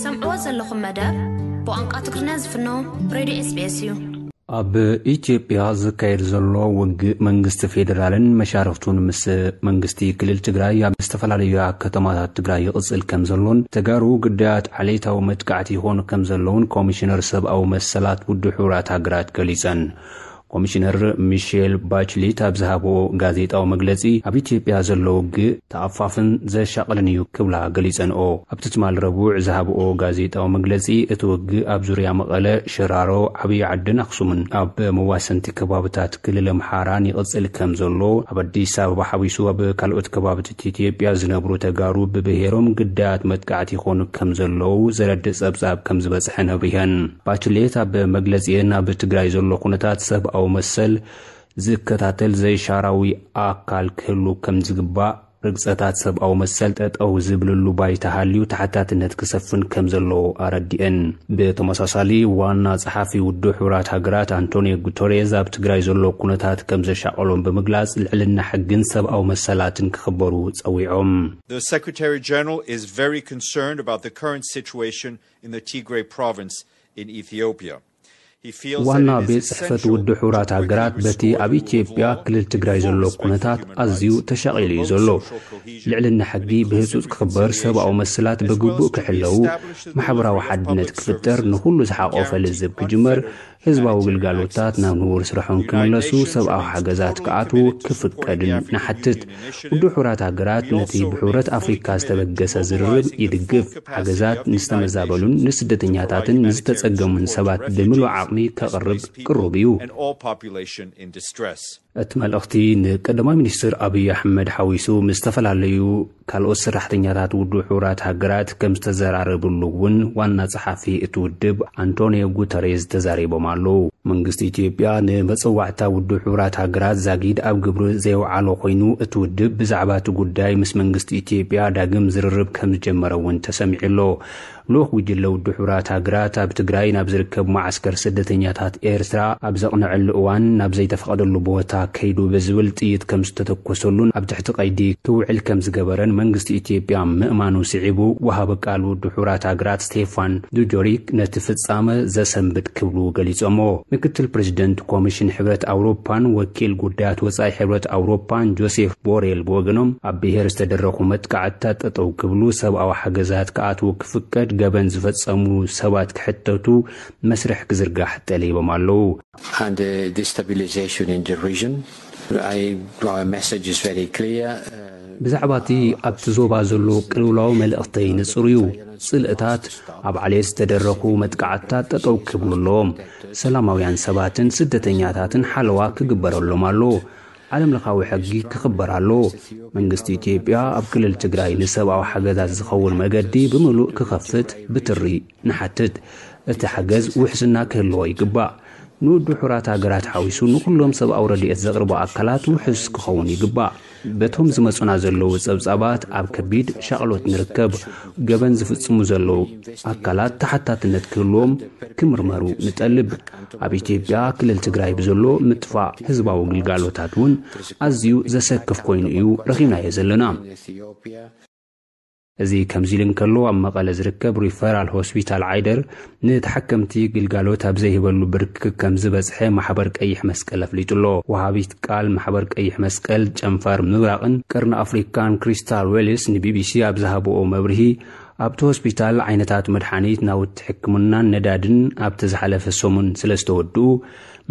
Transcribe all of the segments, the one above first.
ሰምዕዎ ዘለኹም መደብ ብቋንቋ ትግርኛ ዝፍኖ ሬድዮ ኤስቢኤስ እዩ። ኣብ ኢትዮጵያ ዝካየድ ዘሎ ውግእ መንግስቲ ፌዴራልን መሻርኽቱን ምስ መንግስቲ ክልል ትግራይ ኣብ ዝተፈላለዩ ከተማታት ትግራይ ይቕጽል ከም ዘሎን ተጋሩ ግዳያት ዓሌታዊ መጥቃዕቲ ይኾኑ ከም ዘለውን ኮሚሽነር ሰብኣዊ መሰላት ውድብ ሕቡራት ሃገራት ገሊጸን። ኮሚሽነር ሚሼል ባችሊት ኣብ ዝሃብኦ ጋዜጣዊ መግለጺ ኣብ ኢትዮጵያ ዘሎ ውግእ ተኣፋፍን ዘሻቕልን እዩ ክብላ ገሊጸንኦ። ኣብቲ ትማል ረቡዕ ዝሃብኦ ጋዜጣዊ መግለጺ እቲ ውግእ ኣብ ዙርያ መቐለ፣ ሽራሮ፣ ዓብዪ ዓድን ኣኽሱምን ኣብ መዋሰንቲ ከባብታት ክልል ኣምሓራን ይቕጽል ከም ዘሎ፣ ኣብ ኣዲስ ኣበባ ሓዊሱ ኣብ ካልኦት ከባብታት ኢትዮጵያ ዝነብሩ ተጋሩ ብብሄሮም ግዳያት መጥቃዕቲ ይኾኑ ከም ዘለዉ ዘረድእ ጸብጻብ ከም ዝበጽሐን ኣብሪሀን። ባችሌት ኣብ መግለጺአን ኣብ ትግራይ ዘሎ ኩነታት ሰብኣዊ መሰል ዝከታተል ዘይሻራዊ ኣካል ክህሉ ከም ዝግባእ፣ ርግጸታት ሰብኣዊ መሰል ጠጠው ዝብልሉ ባይታ ሃልዩ ተሓታትነት ክሰፍን ከም ዘለዎ ኣረዲአን። ብተመሳሳሊ ዋና ጸሓፊ ውድብ ሕቡራት ሃገራት ኣንቶኒዮ ጉተሬዝ ኣብ ትግራይ ዘሎ ኩነታት ከም ዘሻቐሎም ብምግላጽ ልዕልና ሕግን ሰብኣዊ መሰላትን ክኽበሩ ጸዊዖም። The Secretary General is very concerned about the current situation in the Tigray province in Ethiopia. He feels that ዋና it is ቤት ጽሕፈት essential ውድብ ሕቡራት to ሃገራት quickly በቲ restore ኣብ the rule of ኢትዮጵያ law, ክልል ትግራይ ዘሎ enforce ኩነታት effective human ኣዝዩ rights, ተሻቒሉ እዩ promote ዘሎ። social cohesion ልዕልና ሕጊ and ብህጹጽ inclusive ክኽበር፣ ሰብኣዊ reconciliation መሰላት as well ብግቡእ as to ክሕለዉ፣ reestablish the ማሕበራዊ delivery of ሓድነት public ክፍጠር፣ services, ንኹሉ ዝሓቖፈ guarantee ልዝብ ክጅመር፣ unfettered ህዝባዊ ግልጋሎታት ናብ ንቡር ስርሖም ክምለሱ፣ ሰብኣዊ ሓገዛት ክኣትዉ ክፍቀድን ንሓትት። ውድብ ሕቡራት ሃገራት ነቲ ብሕቡረት ኣፍሪካ ዝተበገሰ ዝርርብ ይድግፍ። ሓገዛት ንዝተመዛበሉን ንስደተኛታትን ንዝተጸገሙን ሰባት ብምሉእ ዓቕሚ ከቕርብ ቅሩብ እዩ። እቲ መልእኽቲ ንቀዳማይ ሚኒስትር ኣብይ ኣሕመድ ሓዊሱ ምስ ዝተፈላለዩ ካልኦት ሰራሕተኛታት ውድብ ሕቡራት ሃገራት ከም ዝተዘራረብሉ እውን ዋና ጸሓፊ እቲ ውድብ ኣንቶኒዮ ጉተሬዝ ተዛሪቦም ኣለዉ። መንግስቲ ኢትዮጵያ ንመጸዋዕታ ውድብ ሕቡራት ሃገራት ዛጊድ ኣብ ግብሪ ዘየውዓሎ ኮይኑ፣ እቲ ውድብ ብዛዕባ እቲ ጉዳይ ምስ መንግስቲ ኢትዮጵያ ዳግም ዝርርብ ከም ዝጀመረ እውን ተሰሚዑ ኣሎ። ልኡኽ ጉጅለ ውድብ ሕቡራት ሃገራት ኣብ ትግራይ ናብ ዝርከብ መዓስከር ስደተኛታት ኤርትራ ኣብ ዘቕነዐሉ እዋን፣ ናብ ዘይተፈቐደሉ ቦታ ከይዱ ብዝብል ጥይት ከም ዝተተኮሰሉን ኣብ ትሕቲ ቀይዲ ክውዕል ከም ዝገበረን መንግስቲ ኢትዮጵያ ምእማኑ ስዒቡ፣ ወሃቢ ቃል ውድብ ሕቡራት ሃገራት ስቴፋን ዱጆሪክ ነቲ ፍጻመ ዘሰንብድ ክብሉ ገሊጾሞ። ምክትል ፕሬዚደንት ኮሚሽን ሕብረት ኣውሮፓን ወኪል ጉዳያት ወጻኢ ሕብረት ኣውሮፓን ጆሴፍ ቦሬል ብወገኖም፣ ኣብ ብሄር ዝተደረኹ መጥቃዕትታት ጠጠው ክብሉ፣ ሰብኣዊ ሓገዛት ክኣትዉ ክፍቀድ፣ ገበን ዝፈጸሙ ሰባት ክሕተቱ መስርሕ ክዝርጋሕ ጠሊቦም ኣለዉ። And the destabilization in the region, I, our message is very clear. ብዛዕባ እቲ ኣብቲ ዞባ ዘሎ ቅልውላው መልእኽተይ ንጹር እዩ። ጽልእታት፣ ኣብ ዓሌት ዝተደረኹ መጥቃዕትታት ጠጠው ክብሉ ኣለዎም። ሰላማውያን ሰባትን ስደተኛታትን ሓለዋ ክግበረሎም ኣለዎ። ዓለም ለኻዊ ሕጊ ክኽበር ኣለዎ። መንግስቲ ኢትዮጵያ ኣብ ክልል ትግራይ ንሰብኣዊ ሓገዛት ዝኸውን መገዲ ብምሉእ ክኸፍት ብትሪ ንሓትት። እቲ ሓገዝ ውሕስና ክህልዎ ይግባእ። ንውድብ ሕቡራት ሃገራት ሓዊሱ ንኹሎም ሰብኣዊ ረድኤት ዘቕርቡ ኣካላት ውሑስ ክኸውን ይግባእ። በቶም ዝመጹና ዘለዉ ጸብጻባት ኣብ ከቢድ ሻቕሎት ንርከብ። ገበን ዝፍጽሙ ዘለዉ ኣካላት ተሓታትነት ክህልዎም ክምርመሩ ንጠልብ። ኣብ ኢትዮጵያ ክልል ትግራይ ብዘሎ ምጥፋእ ህዝባዊ ግልጋሎታት እውን ኣዝዩ ዘሰክፍ ኮይኑ እዩ ረኺብናዮ ዘለና። እዚ ከምዚ ኢሉ እንከሎ፣ ኣብ መቐለ ዝርከብ ሪፈራል ሆስፒታል ዓይደር ንተሓከምቲ ግልጋሎት ኣብ ዘይህበሉ ብርኪ ከም ዝበጽሐ ማሕበር ቀይሕ መስቀል ኣፍሊጡ ኣሎ። ወሃቢት ቃል ማሕበር ቀይሕ መስቀል ጨንፈር ምብራቕን ቀርኒ ኣፍሪካን ክሪስታል ዌልስ ንቢቢሲ ኣብ ዝሃብኦ መብርሂ፣ ኣብቲ ሆስፒታል ዓይነታት መድሓኒት፣ ናውቲ ሕክምናን ነዳድን ኣብቲ ዝሓለፈ ሰሙን ስለ ዝተወድኡ፣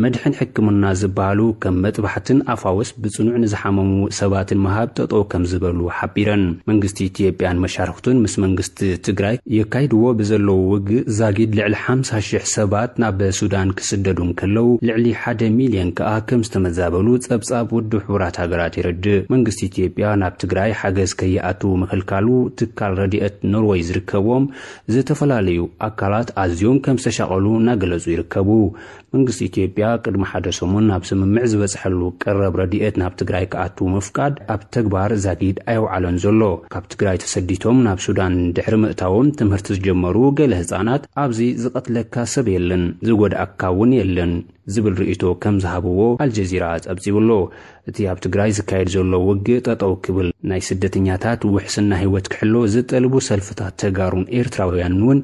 መድሕን ሕክምና ዝበሃሉ ከም መጥባሕትን ኣፋውስ ብጽኑዕ ንዝሓመሙ ሰባትን ምሃብ ጠጠው ከም ዝበሉ ሓቢረን። መንግስቲ ኢትዮጵያን መሻርኽቱን ምስ መንግስቲ ትግራይ የካይድዎ ብዘለዉ ውግእ ዛጊድ ልዕሊ ሓምሳ ሽሕ ሰባት ናብ ሱዳን ክስደዱ እንከለዉ፣ ልዕሊ ሓደ ሚልዮን ከኣ ከም ዝተመዛበሉ ጸብጻብ ውድብ ሕቡራት ሃገራት የረድእ። መንግስቲ ኢትዮጵያ ናብ ትግራይ ሓገዝ ከይኣትዉ ምኽልካሉ፣ ትካል ረድኤት ኖርወይ ዝርከቦም ዝተፈላለዩ ኣካላት ኣዝዮም ከም ዝተሻቐሉ እናገለጹ ይርከቡ። መንግስቲ ኢትዮጵያ ቅድሚ ሓደ ሰሙን ናብ ስምምዕ ዝበጽሐሉ ቀረብ ረድኤት ናብ ትግራይ ክኣቱ ምፍቃድ ኣብ ተግባር ዛጊድ ኣየውዓሎን ዘሎ። ካብ ትግራይ ተሰዲቶም ናብ ሱዳን ድሕሪ ምእታዎም ትምህርቲ ዝጀመሩ ገለ ህጻናት፣ "ኣብዚ ዝቐትለካ ሰብ የለን፣ ዝጎድኣካ እውን የለን" ዝብል ርእይቶ ከም ዝሃብዎ ኣልጀዚራ ጸብጺቡ ኣሎ። እቲ ኣብ ትግራይ ዝካየድ ዘሎ ውግእ ጠጠው ክብል፣ ናይ ስደተኛታት ውሕስና ህይወት ክሕሎ ዝጠልቡ ሰልፍታት ተጋሩን ኤርትራውያንን እውን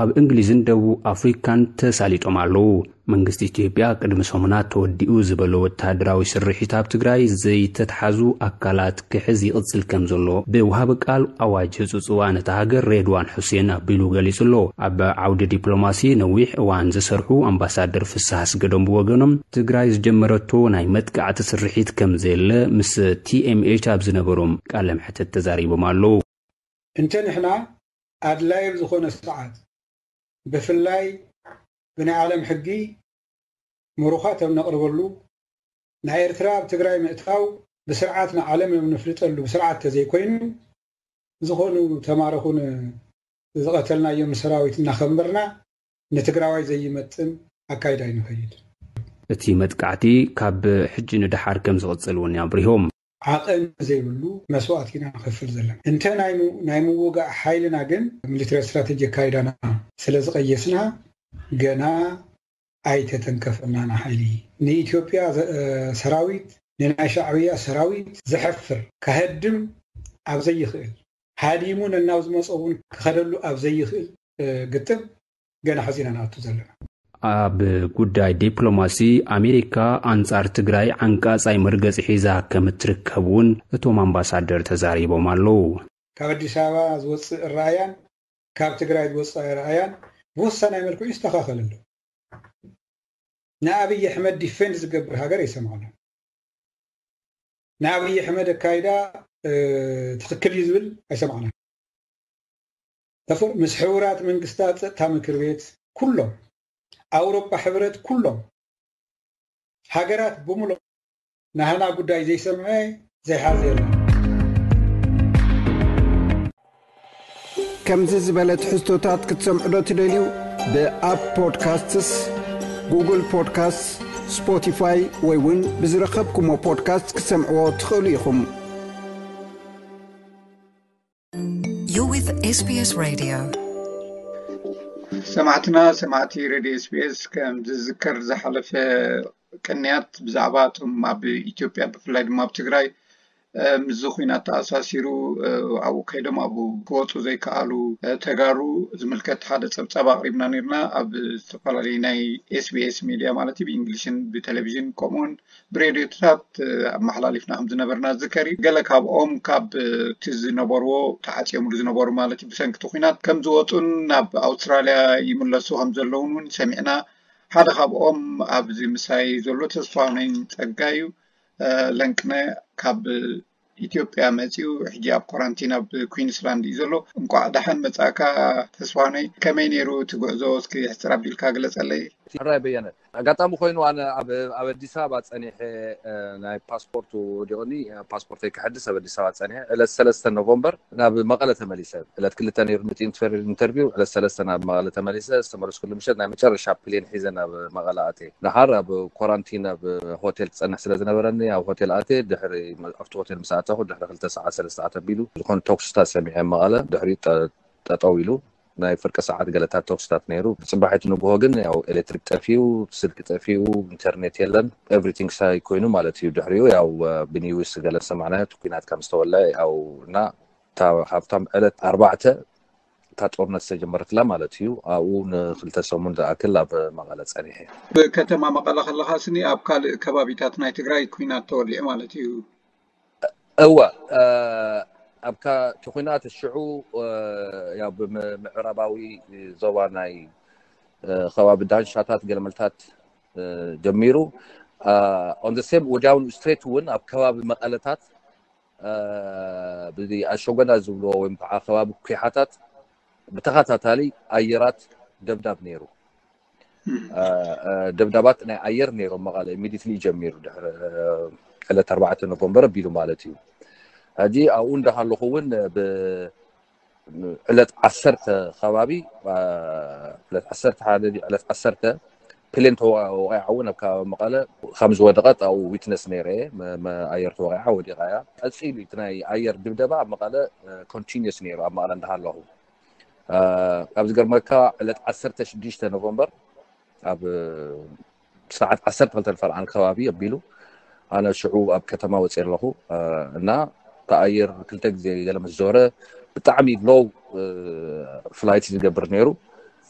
ኣብ እንግሊዝን ደቡብ ኣፍሪካን ተሳሊጦም ኣለዉ። መንግስቲ ኢትዮጵያ ቅድሚ ሰሙናት ተወዲኡ ዝበሎ ወተሃደራዊ ስርሒት ኣብ ትግራይ ዘይተትሓዙ ኣካላት ክሕዝ ይቕጽል ከም ዘሎ ብውሃቢ ቃል ኣዋጅ ህጹጽ እዋን እታ ሃገር ሬድዋን ሑሴን ኣቢሉ ገሊጹ ኣሎ። ኣብ ዓውዲ ዲፕሎማሲ ነዊሕ እዋን ዝሰርሑ ኣምባሳደር ፍስሃ ኣስገዶም ብወገኖም ትግራይ ዝጀመረቶ ናይ መጥቃዕቲ ስርሒት ከም ዘየለ ምስ ቲኤምኤች ኣብ ዝነበሮም ቃለ መሕትት ተዛሪቦም ኣለዉ። እንተ ንሕና ኣድላይ ኣብ ዝኾነ ሰዓት ብፍላይ ብናይ ዓለም ሕጊ ምሩኻት ኣብ ነቕርበሉ ናይ ኤርትራ ኣብ ትግራይ ምእታው ብስርዓት ንዓለም ኣብ ንፍልጠሉ ብስርዓት ተዘይኮይኑ ዝኾኑ ተማረኹን ዝቐተልናዮም ሰራዊት እናኸምበርና ንትግራዋይ ዘይመጥን ኣካይዳ ይንኸይድ። እቲ መጥቃዕቲ ካብ ሕጂ ንደሓር ከም ዝቕጽል እውን ኣብሪሆም። ዓቐን ዘይብሉ መስዋእቲ ኢና ንኸፍል ዘለና። እንተ ናይ ምውጋእ ሓይልና ግን ሚሊተሪ ስትራቴጂ ኣካይዳና ስለ ዝቐየስና ገና ኣይተተንከፈናን ሓይሊ ንኢትዮጵያ ሰራዊት ንናይ ሻዕብያ ሰራዊት ዘሕፍር ከሀድም ኣብ ዘይኽእል ሃዲሙ ነናብ ዝመፀ እውን ክኸደሉ ኣብ ዘይኽእል ግጥም ገና ሐዚና ንኣቱ ዘለና። ኣብ ጉዳይ ዲፕሎማሲ ኣሜሪካ ኣንጻር ትግራይ ዓንቃጻይ መርገጺ ሒዛ ከም እትርከብ እውን እቶም ኣምባሳደር ተዛሪቦም ኣለዉ። ካብ ኣዲስ ኣበባ ዝወፅእ ራእያን ካብ ትግራይ ዝወፅእ ራእያን ብወሳናይ መልክዑ ይስተኻኸል ኣሎ። ንኣብይ ኣሕመድ ዲፌንድ ዝገብር ሃገር ኣይሰማዕናን። ንኣብይ ኣሕመድ ኣካይዳ ትኽክል እዩ ዝብል ኣይሰማዕናን። ተፈር ምስ ሕቡራት መንግስታት ፀጥታ ምክር ቤት ኩሎም ኣውሮፓ ሕብረት ኩሎም ሃገራት ብምሉእ ናህና ጉዳይ ዘይሰምዐ ዘይሓዘ የለን። ከምዚ ዝበለ ትሕዝቶታት ክትሰምዑ ዶ ትደልዩ? ብኣፕ ፖድካስትስ፣ ጉግል ፖድካስትስ፣ ስፖቲፋይ ወይ እውን ብዝረኸብኩሞ ፖድካስት ክትሰምዕዎ ትኽእሉ ኢኹም። You're with S B S Radio. ሰማዕትና ሰማዕቲ ሬድዮ ኤስቢኤስ ከም ዝዝከር ዝሓለፈ ቅንያት ብዛዕባ እቶም ኣብ ኢትዮጵያ ብፍላይ ድማ ኣብ ትግራይ ምስዚ ኩናት ተኣሳሲሩ ኣብኡ ከይዶም ኣብኡ ክወፁ ዘይከኣሉ ተጋሩ ዝምልከት ሓደ ፀብፃብ ኣቕሪብና ነርና ኣብ ዝተፈላለዩ ናይ ኤስቢኤስ ሚድያ ማለት እዩ ብእንግሊሽን ብቴሌቪዥን ከምኡውን ብሬድዮታት ኣመሓላሊፍና ከም ዝነበርና ዝከር እዩ። ገለ ካብኦም ካብ እቲ ዝነበርዎ ተዓፅዮምሉ ዝነበሩ ማለት እዩ ብሰንኪ እቲ ኩናት ከም ዝወፁን ናብ ኣውስትራልያ ይምለሱ ከም ዘለውን እውን ሰሚዕና። ሓደ ካብኦም ኣብዚ ምሳይ ዘሎ ተስፋሁነኝ ፀጋ እዩ። ለንቅነ ካብ ኢትዮጵያ መፂኡ ሕጂ ኣብ ኮራንቲን ኣብ ኩዊንስላንድ እዩ ዘሎ። እንቋዕ ደሓን መፃእካ ተስፋሁነኝ። ከመይ ነይሩ እቲ ጉዕዞ እስኪ ሕፅር ኣቢልካ ግለፀለይ። ሕራይ በየነ። ኣጋጣሚ ኮይኑ ኣነ ኣብ ኣብ ኣዲስ ኣበባ ፀኒሐ ናይ ፓስፖርት ወዲቑኒ ፓስፖርተይ ክሕድስ ኣብ ኣዲስ ኣበባ ፀኒሐ ዕለት ሰለስተ ኖቨምበር ናብ መቐለ ተመሊሰ። ዕለት ክልተ ነይሩ ምእንቲ ኢንተርቪው ዕለት ሰለስተ ናብ መቐለ ተመሊሰ ዝተመለስኩሉ ምሸት ናይ መጨረሻ ፕሌን ሒዘ ናብ መቐለ ኣትየ። ደሓር ኣብ ኮራንቲን ኣብ ሆቴል ክፀንሕ ስለ ዝነበረኒ ኣብ ሆቴል ኣትየ ድሕሪ ኣብቲ ሆቴል ምስ ኣተኹ ድሕሪ ክልተ ሰዓት ሰለስተ ሰዓት ኣቢሉ ዝኾነ ተኩስታት ሰሚዐ መቐለ ድሕሪኡ ጠጠው ኢሉ ናይ ፍርቂ ሰዓት ገለታት ተኩስታት ነይሩ። ብፅባሒቲ ንግሆ ግን ያው ኤሌክትሪክ ጠፊኡ፣ ስልኪ ጠፊኡ፣ ኢንተርኔት የለን። ኤቭሪቲንግ ሳይ ኮይኑ ማለት እዩ። ድሕሪኡ ያው ብኒውስ ገለ ሰማዕናዮ እቲ ኩናት ከም ዝተወልዐ ያው እና እታ ካብቶም ዕለት ኣርባዕተ እታ ጦርነት ዝተጀመረትላ ማለት እዩ። ኣብኡ ንክልተ ሰሙን ዝኣክል ኣብ መቐለ ፀኒሐ። ብከተማ መቐለ ከለኻ ስኒ ኣብ ካልእ ከባቢታት ናይ ትግራይ ኩናት ተወሊዑ ማለት እዩ። እወ ኣብ እቲ ኩናት ሽዑ ያው ብምዕራባዊ ዞባ ናይ ከባቢ ዳንሻታት ገለመልታት ጀሚሩ on the same ወዲያውኑ ስትሬት እውን ኣብ ከባቢ መቐለታት ብዚ ኣሸጎዳ ዝብልዎ ወይ ከዓ ከባቢ ኩሓታት ብተኸታታሊ ኣየራት ደብዳብ ነይሩ። ደብዳባት ናይ ኣየር ነይሮም መቐለ ኢሚዲትሊ ጀሚሩ ድሕሪ ዕለት ኣርባዕተ ኖቨምበር ኣቢሉ ማለት እዩ። ሕጂ ኣብኡ እንዳሃለኹ እውን ዕለት ዓሰርተ ከባቢ ዕለት ዓሰርተ ሓደ ዕለት ዓሰርተ ፕሌን ተወቂዓ እውን ኣብ ከባቢ መቐለ ከም ዝወደቐት ኣብኡ ዊትነስ ነይረ። ኣየር ተወቂዓ ወዲቓ እያ። ቀፂሉ እቲ ናይ ኣየር ድብደባ ኣብ መቐለ ኮንቲኒስ ነይሩ ኣብ መቐለ እንዳሃለኹ ኣብ ዝገርመካ ዕለት ዓሰርተ ሽዱሽተ ኖቨምበር ኣብ ሰዓት ዓሰርተ ክልተ ፈርቓን ከባቢ ኣቢሉ ኣነ ሽዑ ኣብ ከተማ ወፅየ ኣለኹ። እና ተኣየር ክልተ ግዜ ገለ ምስ ዞረ ብጣዕሚ ሎው ፍላይት ዝገብር ነይሩ።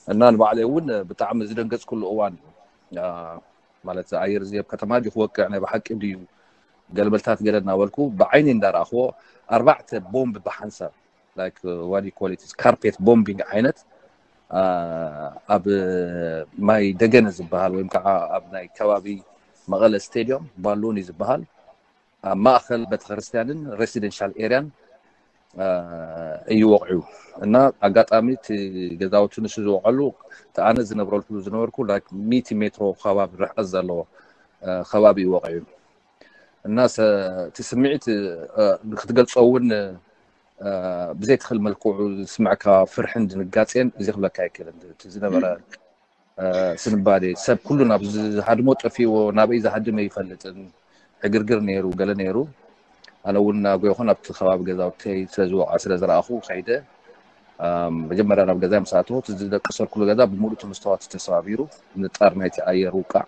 እና ንባዕለይ እውን ብጣዕሚ ዝደንገፅኩሉ እዋን እዩ። ማለት ኣየር እዚ ኣብ ከተማ ድዩ ክወቅዕ፣ ናይ ብሓቂ ድዩ፣ ገለመልታት ገለ እናበልኩ ብዓይኒ እንዳረኣኽዎ ኣርባዕተ ቦምብ ብሓንሳብ፣ like what you call it, carpet bombing ዓይነት ኣብ ማይ ደገነ ዝበሃል ወይም ከዓ ኣብ ናይ ከባቢ መቐለ ስቴድዮም ባሉን እዩ ዝበሃል፣ ኣብ ማእኸል ቤተክርስትያንን ሬሲደንሻል ኤርያን እዩ ወቕዑ። እና ኣጋጣሚ እቲ ገዛውቲ ንሱ ዝወቀሉ፣ እቲ ኣነ ዝነብረሉ ዝነበርኩ ሚእቲ ሜትሮ ከባቢ ርሕቀት ዘለዎ ከባቢ እዩ ወቕዑ። እና እቲ ስምዒት ክትገልፆ እውን ብዘይትኽእል መልክዑ ዝስምዐካ ፍርሕን ድንጋጼን እዚ ክብለካ ኣይክእልን። እቲ ዝነበረ ስንባዴ፣ ሰብ ኩሉ ናብ ዝሃድሞ ጠፊዎ፣ ናበይ ዝሃድመ ይፈልጥን፣ ዕግርግር ነይሩ፣ ገለ ነይሩ። ኣነ እውን እናጎይኹ ናብቲ ከባቢ ገዛውተይ ስለ ዝወቕዐ ስለ ዝረኣኹ ከይደ። መጀመርያ ናብ ገዛ ምስ ኣተኹ፣ እቲ ዝደቀሰልኩሉ ገዛ ብምሉእ እቲ መስተዋት ተሰባቢሩ፣ ንጣር ናይቲ ኣየር ውቃዕ፣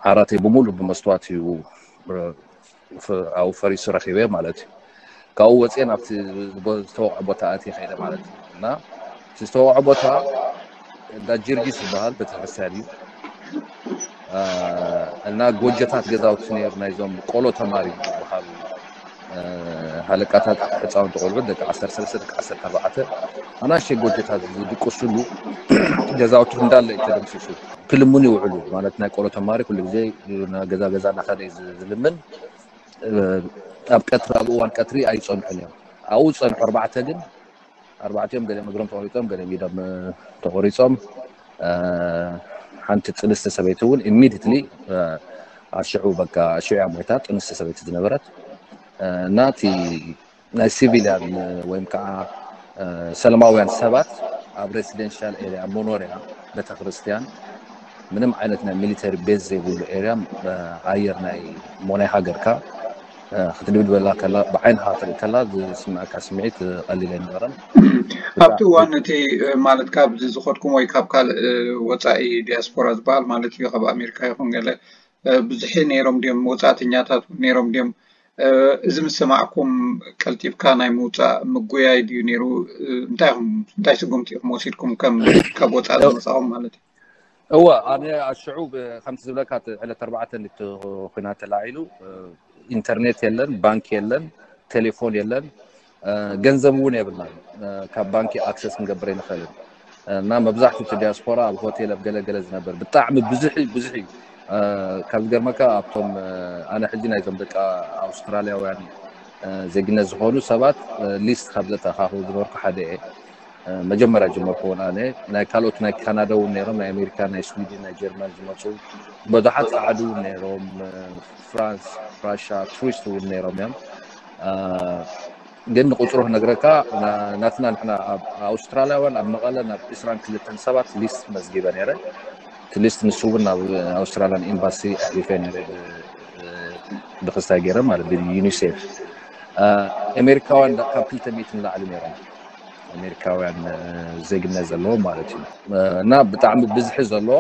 ዓራተይ ብምሉእ ብመስተዋት እዩ ኣብኡ ፈሪሱ ረኺበ ማለት እዩ። ካብኡ ወፅየ ናብቲ ዝተወቕዐ ቦታ ኣትየ ከይደ ማለት እዩ። እና እቲ ዝተወቕዐ ቦታ እንዳ ጊዮርጊስ ዝበሃል ቤተክርስትያን እዩ። እና ጎጆታት ገዛውቲ ነይሩ፣ ናይዞም ቆሎ ተማሪ ዝበሃሉ ሃለቃታት፣ ህፃውንቲ ቆልዑ፣ ደቂ ዓሰርተ ሰለስተ፣ ደቂ ዓሰርተ ኣርባዕተ፣ ኣናእሽተይ ጎጆታት ዝድቅሱሉ ገዛውቲ እንዳለ እዩ ተደምሲሱ። ክልምኑ ይውዕሉ ማለት፣ ናይ ቆሎ ተማሪ ኩሉ ግዜ ገዛ ገዛ እናኸደ እዩ ዝልምን። ኣብ ቀትሪ፣ ኣብ እዋን ቀትሪ ኣይፀንሑን እዮም። ኣብኡ ዝፀንሑ ኣርባዕተ ግን፣ ኣርባዕቲኦም ገሊኦም እግሮም ተቆሪፆም፣ ገሊኦም ኢዶም ተቆሪፆም። ሓንቲ ፅንስቲ ሰበይቲ እውን ኢሚድትሊ ኣሽዑ፣ በቃ ኣሽዑ እያ ሞይታ፣ ፅንስቲ ሰበይቲ ዝነበረት። እና እቲ ናይ ሲቪልያን ወይም ከዓ ሰላማውያን ሰባት ኣብ ሬሲደንሻል ኤርያ፣ መኖርያ፣ ቤተክርስትያን፣ ምንም ዓይነት ናይ ሚሊተሪ ቤዝ ዘይብሉ ኤርያ፣ ኣየር ናይ እሞ ናይ ሃገርካ ክትድብድበላ ከላ፣ ብዓይንኻ ክትርኢ ከላ ዝስምዐካ ስምዒት ቀሊል ኣይነበረን። ኣብቲ እዋን እቲ ማለት ካብዚ ዝኸድኩም ወይ ካብ ካልእ ወፃኢ ዲያስፖራ ዝበሃል ማለት እዩ፣ ካብ ኣሜሪካ ይኹን ገለ ብዙሕ ነይሮም ድዮም? ወፃእተኛታት እውን ነይሮም ድዮም? እዚ ምስ ሰማዕኩም ቀልጢፍካ ናይ ምውፃእ ምጉያይ ድዩ ነይሩ? እንታይ ኢኹም፣ እንታይ ስጉምቲ ኢኹም ወሲድኩም ከም ካብ ወፃኢ ዝመፃኹም ማለት እዩ? እወ፣ ኣነ ኣሽዑ ብ-፣ ከምቲ ዝብለካ እቲ ዕለት ኣርባዕተ እቲ ኹናት ተላዒሉ፣ ኢንተርኔት የለን፣ ባንክ የለን፣ ቴሌፎን የለን፣ ገንዘብ እውን የብልናን። ካብ ባንኪ ኣክሰስ ክንገብር ኣይንኽእልን። እና መብዛሕትኡ እቲ ዲያስፖራ ኣብ ሆቴል ኣብ ገለገለ ዝነብር ብጣዕሚ ብዙሕ እዩ፣ ብዙሕ እዩ። ካብ ዝገርመካ ኣብቶም ኣነ ሕጂ ናይዞም ደቂ ኣውስትራልያውያን ዜግነት ዝኾኑ ሰባት ሊስት ካብ ዘተኣኻኽቡ ዝነበርኩ ሓደ እየ። መጀመርያ ጀመርኩ እውን ኣነ። ናይ ካልኦት ናይ ካናዳ እውን ነይሮም፣ ናይ ኣሜሪካ፣ ናይ ስዊድን፣ ናይ ጀርመን ዝመፁ ብዙሓት ፃዓዱ እውን ነይሮም፣ ፍራንስ፣ ራሻ ቱሪስት እውን ነይሮም እዮም። ግን ንቁፅሩ ክነግረካ፣ ናትና ንሕና ኣብ ኣውስትራልያውያን ኣብ መቐለ ናብ ዕስራን ክልተን ሰባት ሊስት መዝጊበ ነይረ። እቲ ሊስት ንሱ እውን ናብ ኣውስትራልያን ኤምባሲ ኣሕሊፈ ነይረ፣ ብክስታይ ገይረ ማለት ብዩኒሴፍ። ኣሜሪካውያን ካብ ክልተ ሚእቲ ንላዕሊ ነይሮም፣ ኣሜሪካውያን ዜግነት ዘለዎም ማለት እዩ። እና ብጣዕሚ ብዝሒ ዘለዎ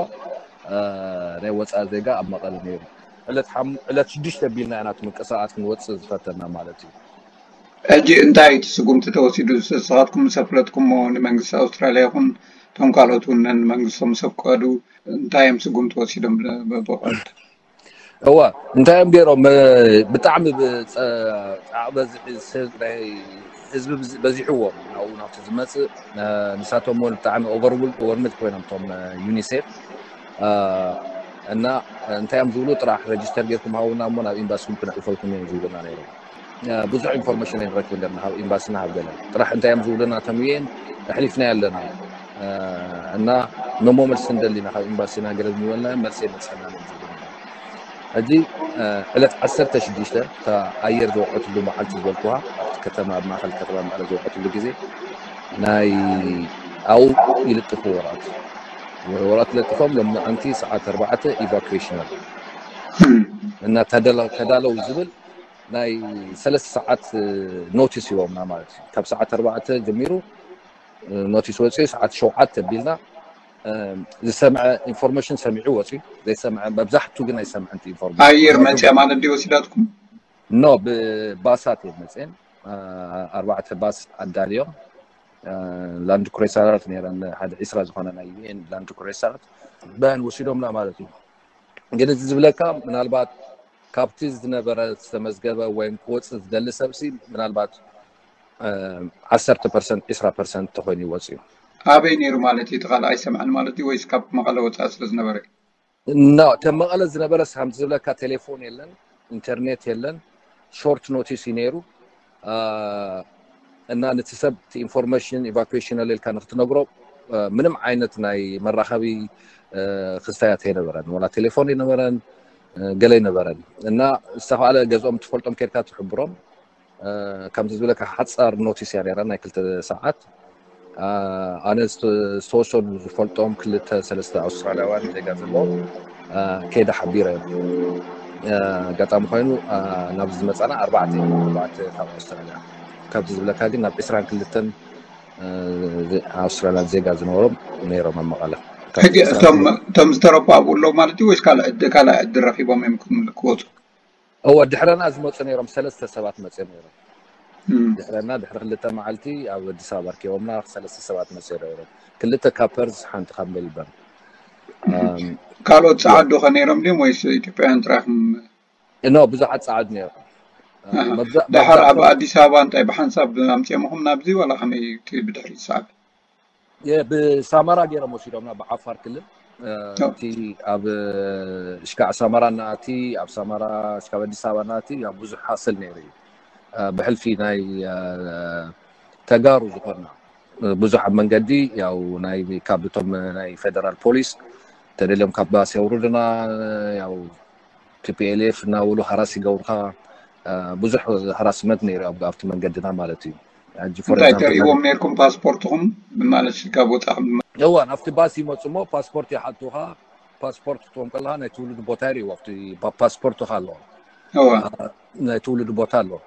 ናይ ወፃኢ ዜጋ ኣብ መቐለ ነይሩ። ዕለት ሓም-፣ ዕለት ሽዱሽተ ኣቢልና ኢና እቲ ምንቅስቃስ ክንወፅእ ዝፈተና ማለት እዩ። ሕጂ እንታይ እቲ ስጉምቲ ተወሲዱ? ንስኻትኩም ምስ ኣፍለጥኩሞ ንመንግስቲ ኣውስትራልያ ይኹን እቶም ካልኦት እውን ነንመንግስቶም ምስ ኣፍቀዱ እንታይ እዮም ስጉምቲ ወሲዶም? ብ-፣ ብቐጥታ እዋ እንታይ እዮም ገይሮም? ብጣዕሚ ብ-፣ ጸ-፣ ጻዕ በዝሒ ሰብ ናይ ህዝቢ ብዝ-፣ በዚሕዎም ናብኡ ናብቲ ዝመጽእ፣ ንሳቶም እውን ብጣዕሚ ኦቨርውልድ ኮይኖም እቶም ዩኒሴፍ። እና እንታይ እዮም ዝብሉ? ጥራሕ ረጅስተር ጌርኩም ሃውና እሞ ናብ ኤምባሲኩም ክነሕልፈልኩም እዮም ዝብሉና ነይሮም። ብዙሕ ኢንፎርሜሽን ኣይንረክብን ነርና ካብ ኤምባሲና ካብ ገለ። ጥራሕ እንታይ እዮም ዝብሉና? እቶም ዩኤን ኣሕሊፍናዮ ኣለና እና፣ እሞ መልሲ ንደሊና ካብ ኤምባሲና ገለ ንበልና መልሲ የመልሰና እዮም ዝብሉና። ሕጂ ዕለት ዓሰርተ ሽዱሽተ እታ ኣየር ዝወቀትሉ መዓልቲ ዝበልኩዋ ኣብቲ ከተማ፣ ኣብ ማእኸል ከተማ መቐለ ዝወቀትሉ ግዜ ናይ ኣብኡ ይልጥፉ ወረቐት፣ ወረቐት ለጢፎም ሎሚ መዓልቲ ሰዓት ኣርባዕተ ኢቫኩዌሽን ኣሎ እና ተዳለው ዝብል ናይ ሰለስተ ሰዓት ኖቲስ ሂቦምና ማለት እዩ። ካብ ሰዓት ኣርባዕተ ጀሚሩ ኖቲስ ወፂኡ ሰዓት ሸውዓተ ኣቢልና ዝሰምዐ ኢንፎርሜሽን ሰሚዑ ወፂ ዘይሰምዐ መብዛሕቱ ግን ኣይሰምዐን ኢንፎርሜሽን ኣየር መፅያ ማለት ድዩ ወሲዳትኩም? ኖ ብባሳት እየን መፅየን። ኣርባዕተ ባስ ኣዳልዮም ላንድ ክሬሰራት ነረን ሓደ ዒስራ ዝኾነ ናይ ዩኤን ላንድ ክሬሰራት በን ወሲዶምና ማለት እዩ። ግን እዚ ዝብለካ ምናልባት ካብቲ ዝነበረ ዝተመዝገበ ወይም ክወፅእ ዝደሊ ሰብሲ ምናልባት ዓሰርተ ፐርሰንት ዒስራ ፐርሰንት ተኮይኑ ይወፅእ እዩ። ኣበይ ነይሩ ማለት እዩ? እቲ ካልእ ኣይሰምዐን ማለት እዩ ወይስ ካብ መቐለ ወፃኢ ስለ ዝነበረ? ኖ ከም መቐለ ዝነበረ ሳምቲ ዝብለካ ቴሌፎን የለን፣ ኢንተርኔት የለን፣ ሾርት ኖቲስ እዩ ነይሩ። እና ነቲ ሰብ ኢንፎርሜሽን ኢቫኩዌሽን ኣለ ኢልካ ንክትነግሮ ምንም ዓይነት ናይ መራኸቢ ክስታያት ኣይነበረን፣ ወላ ቴሌፎን ኣይነበረን፣ ገለ ኣይነበረን። እና ዝተኻለ ገዝኦም ትፈልጦም ከድካ ትሕብሮም። ከምዚ ዝብለካ ሓፃር ኖቲስ እያ ነራ ናይ ክልተ ሰዓት። ኣነ ዝተወሰኑ ዝፈልጦም ክልተ ሰለስተ ኣውስትራልያውያን ዜጋ ዘለዎ ከይደ ሓቢረ። ኣጋጣሚ ኮይኑ ናብዚ ዝመፃና ኣርባዕተ ኣርባዕተ ካብ ኣውስትራልያ። ካብዚ ዝብለካ ግን ናብ ዕስራን ክልተን ኣውስትራልያን ዜጋ ዝነበሮም ነይሮም ኣብ መቐለ። እቶም ዝተረፉ ኣብኡ ኣለዉ ማለት እዩ ወይስ ካልእ ዕድል ረኪቦም እዮም ክወፁ? እወ ድሕረና ዝመፁ ነይሮም ሰለስተ ሰባት መፅኦም ነይሮም። ድሕረና ድሕሪ ክልተ መዓልቲ ኣብ ኣዲስ ኣበባ ኣርኪቦምና ሰለስተ ሰባት መፅኦም ነይሮም። ክልተ ካብ ፐርዝ ሓንቲ ካብ ሜልበርን። ካልኦት ፀዓዱ ከ ነይሮም ድዮም ወይስ ኢትዮጵያውያን ጥራይኹም? ኖ ብዙሓት ፀዓዱ ነይሮም። ደሓር ኣብ ኣዲስ ኣበባ እንታይ ብሓንሳብ ኣምፅኦምኹም ናብዚ ዋላ ከመይ ብድሕሪ ዝሰዓብ? ብሳማራ ገይሮም ወሲዶምና ብዓፋር ክልል። እቲ ኣብ እሽካዕ ሳማራ እናኣቲ ኣብ ሳማራ እሽካብ ኣዲስ ኣበባ እናኣቲ ብዙሕ ሃስል ነይሩ እዩ። ብሕልፊ ናይ ተጋሩ ዝኾንና ብዙሕ ኣብ መንገዲ ያው ናይ ካብ እቶም ናይ ፌደራል ፖሊስ ተደልዮም ካብ ባስ የውርድና ያው ቲፒኤልኤፍ እናበሉ ሃራስ ይገብሩካ። ብዙሕ ሃራስመንት ነይሩ ኣብቲ መንገድና ማለት እዩ። እንታይ ተርእዎም ነርኩም ፓስፖርትኩም ማለት ካብ ወፃኹም? እዋ ናብቲ ባስ ይመፁ እሞ ፓስፖርት ይሓቱካ። ፓስፖርት ክትዎም ከለካ ናይ ትውልድ ቦታ ይርእዎ ኣብቲ ፓስፖርትካ ኣለዎ። ናይ ትውልድ ቦታ ኣለዎ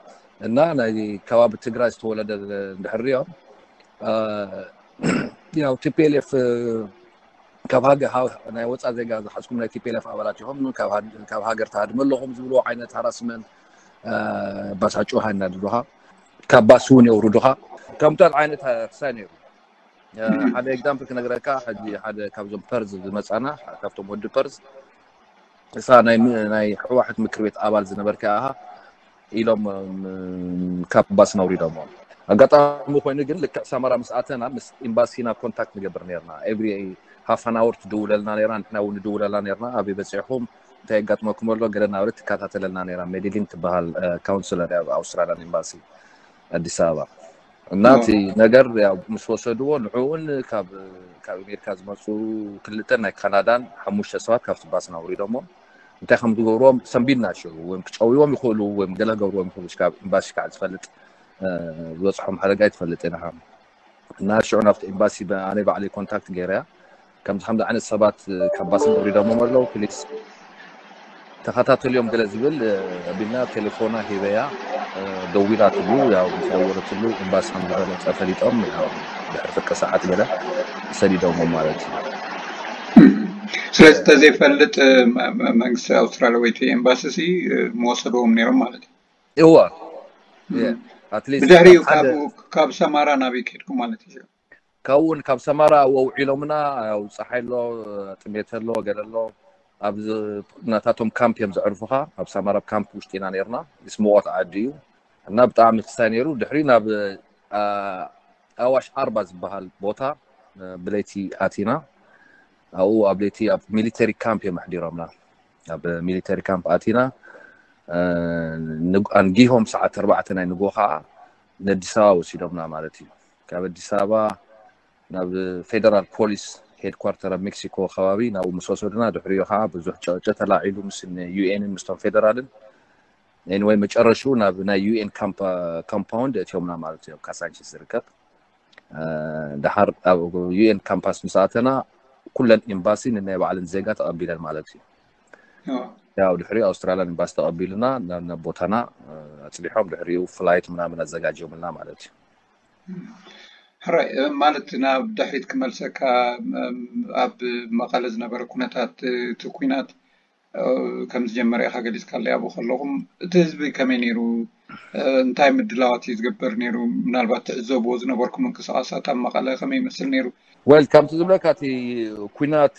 እና ናይ ከባቢ ትግራይ ዝተወለደ እንድሕር ሪኦም ያው ቲፒኤልኤፍ ካብ ሃገር ናይ ወፃ ዜጋ ዝሓዝኩም ናይ ቲፒኤልኤፍ ኣባላት ኢኹም ካብ ሃገር ትሃድሙ ኣለኹም ዝብልዎ ዓይነት ሃራስመንት ባሳጩ ሃናድዱኻ ካብ ባስ እውን የውርዱኻ። ከምታት ዓይነት ክሳይ ነይሩ። ሓደ ኤግዛምፕል ክነግረካ ሕጂ ሓደ ካብዞም ፐርዝ ዝመፃና ካብቶም ወዲ ፐርዝ እሳ ናይ ሕዋሕት ምክር ቤት ኣባል ዝነበርካ ኢኻ ኢሎም ካብ ባስ ነውሪዶሞ። ኣጋጣሚ ኮይኑ ግን ልክዕ ሰመራ ምስ ኣተና ምስ ኤምባሲና ኮንታክት ንገብር ነርና። ኤቭሪ ሃፍ ኣን ኣወር ትድውለልና ነራ፣ ንሕና እውን ንድውለላ ነርና። ኣበይ በፂሕኩም እንታይ የጋጥመኩም ኣሎ ገለ እናበለት ትከታተለልና ነራ። ሜዲሊን ትበሃል ካውንስለር ኣብ ኣውስትራልያን ኤምባሲ ኣዲስ ኣበባ እና እቲ ነገር ያው ምስ ወሰድዎ ንዕኡን ካብ ካብ ኣሜሪካ ዝመፁ ክልተ ናይ ካናዳን ሓሙሽተ ሰባት ካብቲ ባስ ናውሪዶሞ እንታይ ከም ዝገብርዎም ሰንቢድና ሽዑ ወይም ክጨውይዎም ይኽእሉ ወይም ገለ ክገብርዎም ይኽእሉ ካብ ኤምባሲ ከዓ ዝፈልጥ ዝበፅሖም ሓደጋ ይትፈልጥ ኢና እና ሽዑ ናብቲ ኤምባሲ ኣነ ባዕለይ ኮንታክት ገይረያ ከምዚ ከምዚ ዓይነት ሰባት ካብ ባስ ኣውሪዶሞም ኣለዉ ፕሊስ ተኸታተልዮም ገለ ዝብል ቢልና ቴሌፎና ሂበያ ደዊላትሉ ያው ምስ ደወለትሉ ኤምባሲ ከም ዝበለፀ ፈሊጦም ድሕሪ ፍርቂ ሰዓት ገለ ሰዲዶሞ ማለት እዩ። ስለዚ ተዘይፈልጥ መንግስቲ ኣውስትራልያ ወይ ኤምባሲ ሲ መወሰድዎም ነይሮም ማለት እዩ። እዋ ብድሕሪኡ ካብ ሰማራ ናበይ ከድኩም ማለት እዩ? ካብኡ እውን ካብ ሰማራ ወውዒሎምና ያው ፀሓይ ኣሎ ጥሜት ኣሎ ገለ ኣሎ ኣብ ናታቶም ካምፕ እዮም ዘዕርፉኻ ኣብ ሰማራ ካምፕ ውሽጢ ኢና ነርና ምስ ሙቐት ዓዲ እዩ እና ብጣዕሚ ክሳይ ነይሩ ድሕሪ ናብ ኣዋሽ ኣርባ ዝበሃል ቦታ ብለይቲ ኣቲና ኣብኡ ኣብ ለይቲ ኣብ ሚሊተሪ ካምፕ እዮም ኣሕዲሮምና ኣብ ሚሊተሪ ካምፕ ኣቲና ኣንጊሆም ሰዓት ኣርባዕተ ናይ ንጎ ከዓ ንኣዲስ ኣበባ ወሲዶምና ማለት እዩ ካብ ኣዲስ ኣበባ ናብ ፌደራል ፖሊስ ሄድኳርተር ኣብ ሜክሲኮ ከባቢ ናብኡ ምስ ወሰዱና ድሕሪኡ ከዓ ብዙሕ ጨጨ ተላዒሉ ምስ ዩኤንን ምስቶም ፌደራልን ኤኒወይ መጨረሽኡ ናብ ናይ ዩኤን ካምፓውንድ እትዮምና ማለት እዩ ኣብ ካሳንቺስ ዝርከብ ድሓር ኣብ ዩኤን ካምፓስ ምስ ኣተና ኩለን ኤምባሲ ንናይ ባዕለን ዜጋ ተቐቢለን ማለት እዩ ያው ድሕሪ ኣውስትራልያን ኤምባሲ ተቐቢሉና ናብ ቦታና ኣፅሊሖም ድሕሪኡ ፍላይት ምናምን ኣዘጋጅዮምልና ማለት እዩ ሕራይ ማለት ናብ ድሕሪት ክመልሰካ፣ ኣብ መቐለ ዝነበረ ኩነታት፣ እቲ ኩናት ከም ዝጀመረ ኢኻ ገሊፅካለይ ኣብኡ ከለኹም። እቲ ህዝቢ ከመይ ነይሩ? እንታይ ምድላዋት እዩ ዝገብር ነይሩ? ምናልባት ትዕዘብዎ ዝነበርኩም ምንቅስቃሳት ኣብ መቐለ ከመይ ይመስል ነይሩ? ወል፣ ከምቲ ዝብለካ፣ እቲ ኩናት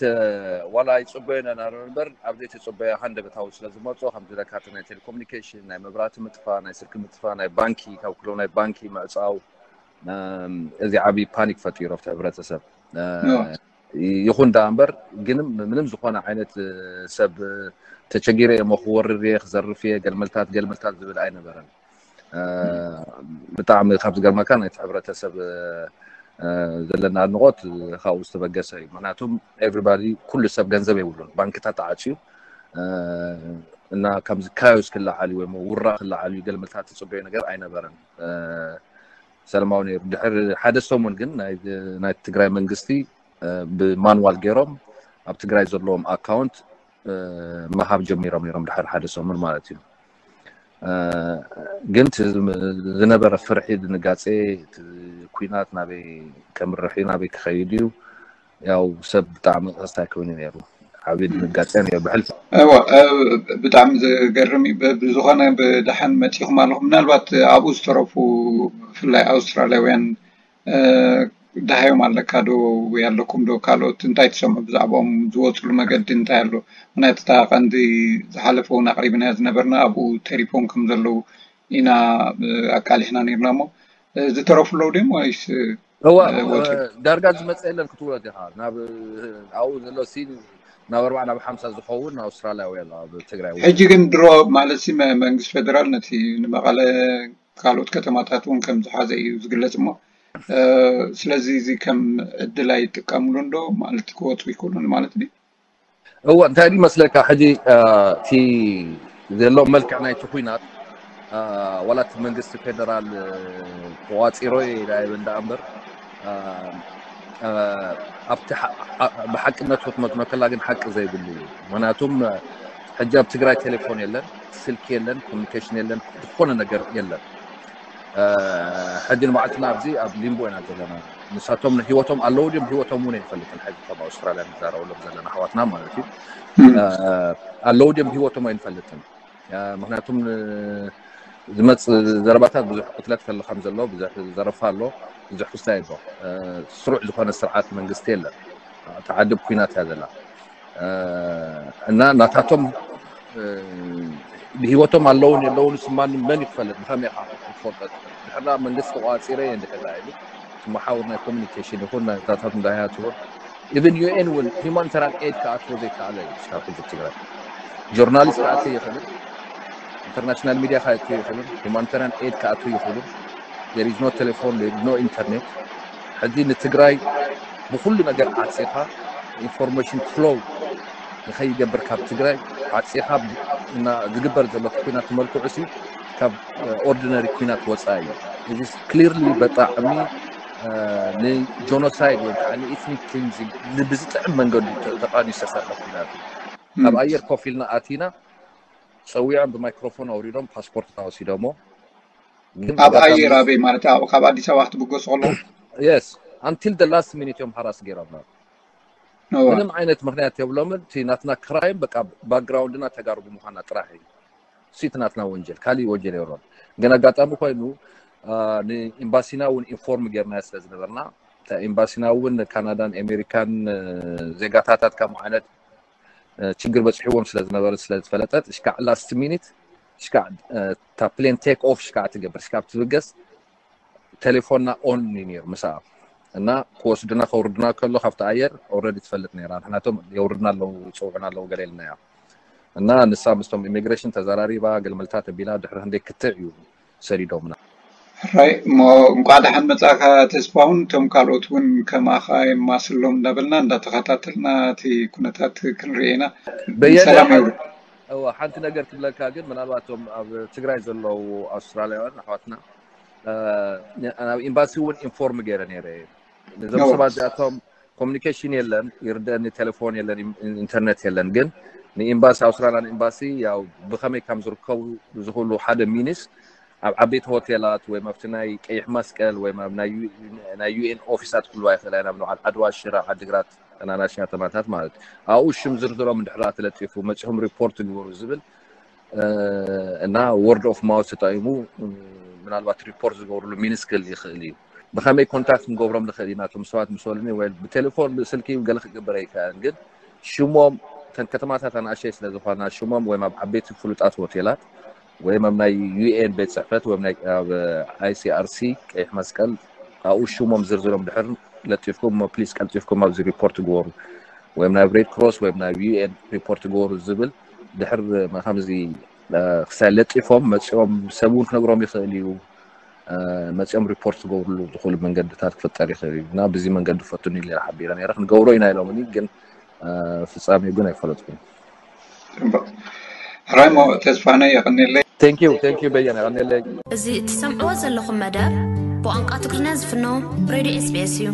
ዋላ ይፅበዮ ነናሮ እምበር፣ ኣብ ዘይተፅበዮ ሃንደበታዊ ስለ ዝመፆ፣ ከምቲ ዝብለካ፣ እቲ ናይ ቴሌኮሙኒኬሽን፣ ናይ መብራህቲ ምጥፋ፣ ናይ ስልኪ ምጥፋ፣ ናይ ባንኪ፣ ካብ ኩሎም ናይ ባንኪ ምዕፃው፣ እዚ ዓብዪ ፓኒክ ፈጢሩ ኣብቲ ሕብረተሰብ። ይኹን ደኣ እምበር፣ ግን ምንም ዝኾነ ዓይነት ሰብ ተቸጊረ እየ፣ ክወርር እየ፣ ክዘርፍ እየ፣ ገልመልታት ገልመልታት ዝብል ኣይነበረን። ብጣዕሚ ካብ ዝገርመካ፣ ናይቲ ሕብረተሰብ ዘለና ኣድንቆት ካብኡ ዝተበገሰ እዩ። ምክንያቱም ኤቭሪባዲ፣ ኩሉ ሰብ ገንዘብ የብሉን፣ ባንክታት ተዓፅዩ፣ እና ከምዚ ካዮስ ክለዓል እዩ ወይ ውራ ክለዓል እዩ፣ ገልመልታት ትፅበዮ ነገር ኣይነበረን። ሰላማዊ ነይሩ። ድሕሪ ሓደ ሰሙን ግን ናይ ትግራይ መንግስቲ ብማንዋል ገይሮም ኣብ ትግራይ ዘለዎም ኣካውንት ምሃብ ጀሚሮም ነይሮም፣ ድሕሪ ሓደ ሰሙን ማለት እዩ። ግን ዝነበረ ፍርሒ፣ ድንጋጼ፣ እቲ ኩናት ናበይ ከምርሕ እዩ፣ ናበይ ክኸይድ እዩ፣ ያው ሰብ ብጣዕሚ ተስታይ ኮይኑ ነይሩ። ዓብዪ ድንጋጼ ነይሩ ብሕልፊ። እወ፣ ብጣዕሚ ዘገርም እዩ። ብዝኾነ ብደሓን መፂኹም ኣለኹም። ምናልባት ኣብኡ ዝተረፉ ብፍላይ ኣውስትራልያውያን ደሃዮም ኣለካ ዶ ወይ ኣለኩም ዶ? ካልኦት እንታይ ትሰምዑ ብዛዕባኦም? ዝወፅሉ መገዲ እንታይ ኣሎ? ምክንያቱ እታ ቀንዲ ዝሓለፈ እውን ኣቕሪብናያ ዝነበርና ኣብኡ ተሪፎም ከም ዘለዉ ኢና ኣቃሊሕና ነይርና። እሞ ዝተረፉ ኣለዉ ድዮም ወይስ እዋ ወፂኦም? ዳርጋ ዝመፀ የለን ክትብሎ ዲኻ? ናብ ኣብኡ ዘሎ ሲን ናብ ኣርባዓ ናብ ሓምሳ ዝኸውን ኣውስትራልያዊ ኣሎ ኣብ ትግራይ እውን። ሕጂ ግን ድሮ ማለት ሲ መንግስቲ ፌደራል ነቲ ንመቐለ ካልኦት ከተማታት እውን ከም ዝሓዘ እዩ ዝግለፅ። እሞ ስለዚ እዚ ከም ዕድል ኣይጥቀምሉን ዶ ማለት ክወፁ ይክእሉ ማለት ድዩ? እወ፣ እንታይ ድዩ መስለካ፣ ሕጂ እቲ ዘሎ መልክዕ ናይቲ ኩናት፣ ዋላ እቲ መንግስቲ ፌደራል ተቋፂሮ ኢላ ይብል ደኣ እምበር፣ ኣብቲ ብሓቅነቱ ክትመዝኖ ከላ ግን ሓቂ ዘይብሉ እዩ። ምክንያቱም ሕጂ ኣብ ትግራይ ቴሌፎን የለን፣ ስልኪ የለን፣ ኮሚኒኬሽን የለን፣ ዝኾነ ነገር የለን። ሕጂ ንባዕልትና ኣብዚ ኣብ ሊምቦ ኢና ዘለና። ንሳቶም ህይወቶም ኣለዉ ድዮም ህይወቶም እውን ኣይንፈልጥን። ሕጂ ከም ኣውስትራልያ ንዛረበሎም ዘለና ኣሕዋትና ማለት እዩ። ኣለዉ ድዮም ህይወቶም ኣይንፈልጥን። ምክንያቱም ዝመፅ ዘረባታት ብዙሕ ቅትለት ከሎ ከም ዘሎ፣ ብዙሕ ዘረፋ ኣሎ፣ ብዙሕ ክስታይ ኣሎ። ስሩዕ ዝኾነ ስርዓት መንግስቲ የለን። ተዓድብ ኩናት እያ ዘላ። እና ናታቶም ብህይወቶም ኣለውን የለውን ስማን መን ይፈልጥ? ብኸመይ ኢኻ ክትፈልጦ? ድሕራ መንግስቲ ተቋፂረ እየ እንድሕር ኢሉ እቲ መሓውር ናይ ኮሚኒኬሽን ይኹን ናታታት እንዳያት ይኹን፣ ኢቨን ዩኤን እውን ሂማኒታሪያን ኤድ ክኣትዎ ዘይከኣለ እዩ። ስካብ ሕጂ ትግራይ ጆርናሊስት ክኣትው ይኽእልን፣ ኢንተርናሽናል ሚድያ ክኣትው ይኽእልን፣ ሂማኒታሪያን ኤድ ክኣትው ይኽእልን። There is no telephone, there is no internet። ሕጂ ንትግራይ ብኩሉ ነገር ዓፂኻ ኢንፎርሜሽን ፍሎው ንኸይገብር ካብ ትግራይ ዓፂኻ እና ዝግበር ዘሎ ኩናት መልክዑ ሲ ካብ ኦርዲነሪ ኩናት ወፃኢ እዩ። እዚ ክሊርሊ ብጣዕሚ ንጆኖሳይድ ወይ ከዓ ንኢትኒክ ክሊንዚንግ ብዝጥዕም መንገዱ ተቃኒ ዝተሰርሐ ኩናት እዩ። ኣብ ኣየር ኮፍ ኢልና ኣቲና ፀዊዖም ብማይክሮፎን ኣውሪዶም ፓስፖርት እናወሲዶሞ ግን ኣብ ኣየር ኣበይ ማለት ኣብ ካብ ኣዲስ ኣበባ ክትብገሱ ከለኹም? Yes, until the last minute እዮም ሃራስ ገይሮምና። ምንም ዓይነት ምክንያት የብሎምን። እቲ ናትና ክራይም በቃ ባክግራውንድና ተጋሩ ብምዃና ጥራሕ እዩ። እሱ እቲ ናትና ወንጀል፣ ካሊእ ወንጀል የብሎን። ግን ኣጋጣሚ ኮይኑ ንኤምባሲና እውን ኢንፎርም ገይርና ስለ ዝነበርና፣ ኤምባሲና እውን ካናዳን ኣሜሪካን ዜጋታታት ከም ዓይነት ችግር በፅሕዎም ስለ ዝነበረ ስለ ዝፈለጠት እሽካዕ ላስት ሚኒት እሽካዕ እታ ፕሌን ቴክ ኦፍ እሽካዕ ትገብር እሽካዕ ትብገስ ቴሌፎንና ኦን እዩ ነይሩ ምስኣ እና ክወስዱና ከውርዱና ከሎ ካብቲ ኣየር ኦልሬዲ ትፈልጥ ነይራ። ንሕናቶም የውርዱና ኣለዉ ይፅውዑና ኣለዉ ገለ ኢልናያ እና ንሳ ምስቶም ኢሚግሬሽን ተዘራሪባ ገልመልታት ኣቢላ ድሕሪ ክንደይ ክትዕ እዩ ሰዲዶምና። ሕራይ እሞ እንቋዕ ደሓን መጻእካ ተስፋሁን። እቶም ካልኦት እውን ከማኻ የማስሎም እንዳበልና እንዳተኸታተልና እቲ ኩነታት ክንርኢ ኢና። በየነ፣ ሰላም ይብሉ። እወ፣ ሓንቲ ነገር ክብለካ ግን ምናልባት እቶም ኣብ ትግራይ ዘለዉ ኣውስትራልያውያን ኣሕዋትና ናብ ኤምባሲ እውን ኢንፎርም ገይረ ነይረ። ነዞም ሰባት እዚኣቶም ኮሚኒኬሽን የለን፣ ይርደአኒ ቴሌፎን የለን፣ ኢንተርኔት የለን። ግን ንኤምባሲ ኣውስትራልያ ንኤምባሲ ያው ብኸመይ ከም ዝርከቡ ዝኽእሉ ሓደ ሚንስ ኣብ ዓበይቲ ሆቴላት ወይ ኣብቲ ናይ ቀይሕ መስቀል ወይ ኣብ ናይ ዩ- ናይ ዩኤን ኦፊሳት ክህልዋ ይኽእላ ኢና፣ ኣብ ዓድዋ፣ ሽረ፣ ዓድግራት፣ ናናሽ ከተማታት ማለት ኣብኡ ሽም ዝርዝሮም እንድሕር ተለጢፉ መፂኹም ሪፖርት ግበሩ ዝብል እና ወርድ ኦፍ ማውስ ተጠቂሙ ምናልባት ሪፖርት ዝገብርሉ ሚንስ ክህል ይኽእል እዩ። ብኸመይ ኮንታክት ክንገብሮም ንኽእል ኢና? እቶም ሰባት ምስ በሉኒ ወይ ብቴሌፎን ብስልኪ ገለ ክግበር ኣይከኣልን፣ ግን ሽሞም እተን ከተማታት ኣናእሸይ ስለ ዝኾና ሽሞም ወይም ኣብ ዓበይቲ ፍሉጣት ሆቴላት ወይም ኣብ ናይ ዩኤን ቤት ፅሕፈት ወይም ኣብ ኣይሲኣርሲ ቀይሕ መስቀል ኣብኡ ሽሞም ዝርዝሮም ድሕር ለጢፍኩም ፕሊስ ቀልጢፍኩም ኣብዚ ሪፖርት ግበሩ ወይም ናብ ሬድ ክሮስ ወይም ናብ ዩኤን ሪፖርት ግበሩ ዝብል ድሕር ከምዚ ክሳይ ለጢፎም መፂኦም ሰብ እውን ክነግሮም ይኽእል እዩ። መፂኦም ሪፖርት ዝገብርሉ ዝኽእሉ መንገድታት ክፍጠር ይኽእል እዩ እና ብዚ መንገዲ ፈትኑ ኢለ ሓቢረ ነረ። ክንገብሮ ኢና ኢሎምኒ፣ ግን ፍፃሜ ግን ኣይፈለጥኩን። ራይሞ ተስፋነ የቐኒለይ። ቴንኪዩ ቴንኪዩ በየነ የቐኒለይ። እዚ እትሰምዕዎ ዘለኹም መደብ ብቋንቋ ትግርኛ ዝፍኖ ሬድዮ ኤስቢኤስ እዩ።